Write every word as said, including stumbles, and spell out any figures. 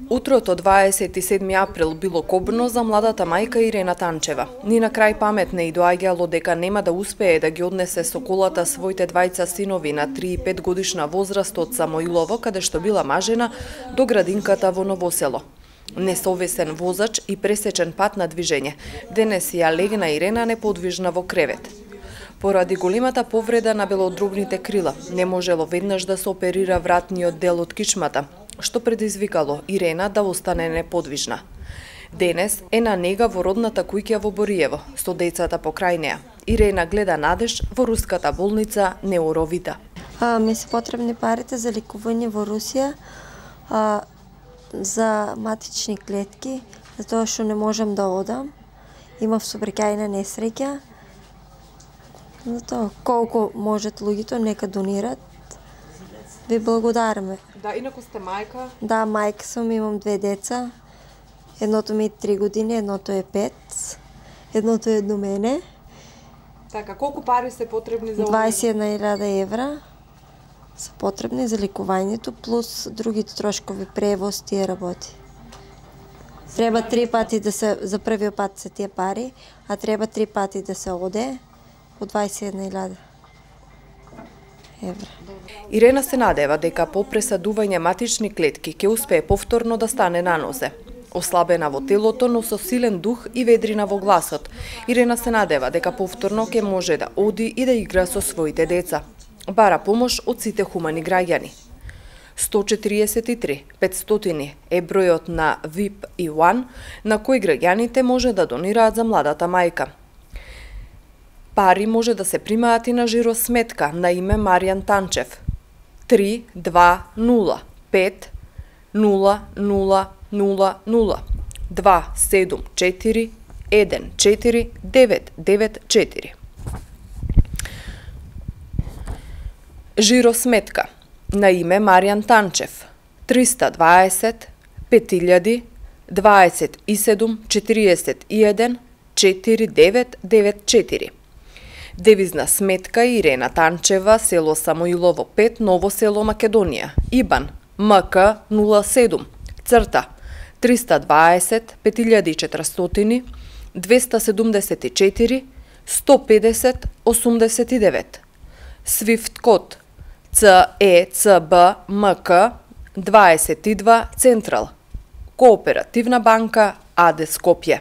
Утрото дваесет и седми април било кобно за младата мајка Ирена Танчева. Ни на крај памет не и доаѓало дека нема да успее да ги однесе со колата своите двајца синови на три и пет годишна возраст од Самоилово, каде што била мажена, до градинката во Новосело. Несовесен возач и пресечен пат на движење. Денес ја легна Ирена неподвижна во кревет. Поради големата повреда на белодробните крила, не можело веднаш да се оперира вратниот дел од кичмата, што предизвикало Ирена да остане неподвижна. Денес е на нега во родната куќа во Бориево, со децата покрај неа. Ирена гледа надеж во руската болница Неуровита. А, ми се потребни парите за лекување во Русија, а, за матични клетки, затоа што не можам да одам. Имав сообраќајна несреќа. Затоа, колку можат луѓето, нека донират. Ви благодараме. Да, инаку сте мајка? Да, мајка сум, имам две деца. Едното ми е три години, едното е пет. Едното е до мене. Така, колку пари се потребни за дваесет и една илјада евра се потребни за лекувањето, плюс другите трошкови, превоз, тие работи. Треба три пати да се, за првиот пат се тие пари, а треба три пати да се оде по дваесет и една илјада евра. Ирена се надева дека по пресадување матични клетки ќе успее повторно да стане на нозе. Ослабена во телото, но со силен дух и ведрина во гласот, Ирена се надева дека повторно ќе може да оди и да игра со своите деца. Бара помош од сите хумани граѓани. сто четириесет и три петстотини е бројот на ви ай пи еден на кој граѓаните може да донираат за младата мајка. Пари може да се примаат и на жиросметка на име Маријан Танчев. три два нула пет нула нула нула нула два седум четири еден четири девет девет четири. Жиросметка на име Маријан Танчев триста дваесет пет илјади дваесет и седум четириесет и еден четири девет девет четири. Девизна сметка Ирена Танчева, село Самоилово пет, Ново село, Македонија. ИБАН ем ка нула седум црта триста дваесет пет илјади и четиристотини двеста седумдесет и четири сто педесет осумдесет и девет. Свифт код це е це бэ ем ка дваесет и два Централ. Кооперативна банка АД Скопје.